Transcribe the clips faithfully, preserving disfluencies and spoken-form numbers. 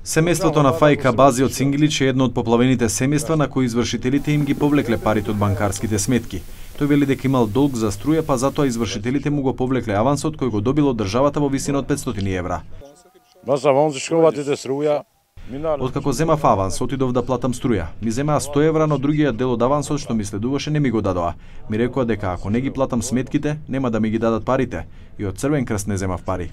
Семејството на Фајка Бази од Сингилич е едно од поплавените семејства на кои извршителите им ги повлекле парите од банкарските сметки. Тој вели дека имал долг за струја, па затоа извршителите му го повлекле авансот кој го добил од државата во висина од петстотини евра. Откако земав аванс, отидов да платам струја. Ми земаа сто евра, но другиот дел од авансот што ми следуваше не ми го дадоа. Ми рекоа дека ако не ги платам сметките, нема да ми ги дадат парите. И од Црвен крст не земав пари.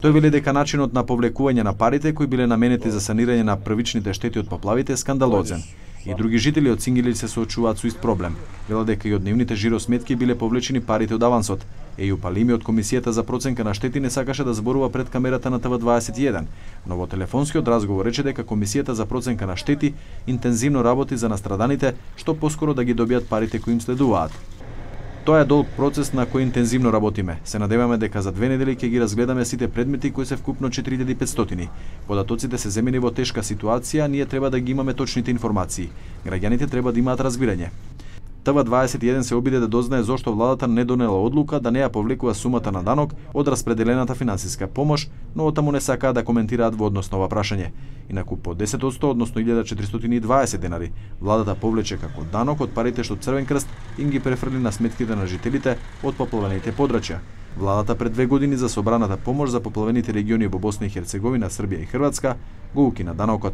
Тој вели дека начинот на повлекување на парите кои биле наменети за санирање на првичните штети од поплавите е скандалозен. И други жители од Сингилич се соочуваат со ист проблем. Велат дека и од нивните жиросметки биле повлечени парите од авансот. Еју Палими од Комисијата за проценка на штети не сакаше да зборува пред камерата на Т В дваесет и еден, но во телефонскиот разговор рече дека Комисијата за проценка на штети интензивно работи за настраданите, што поскоро да ги добијат парите кои им следуваат. Тоа е долг процес на кој интензивно работиме. Се надеваме дека за две недели ќе ги разгледаме сите предмети кои се вкупно четири илјади и петстотини. Податоците се земени во тешка ситуација, ние треба да ги имаме точните информации. Граѓаните треба да имаат разбирање. Т В дваесет и еден се обиде да дознае зошто владата не донела одлука да не ја повлекува сумата на данок од распределената финансиска помош, но отаму не сакаа да коментираат во однос на ова прашање. Инаку по десет одсто, односно илјада четиристотини и дваесет денари, владата повлече како данок од парите што Црвен крст им ги префрли на сметките на жителите од поплавените подрачја. Владата пред две години за собраната помош за поплавените региони во Босна и Херцеговина, Србија и Хрватска го укина данокот.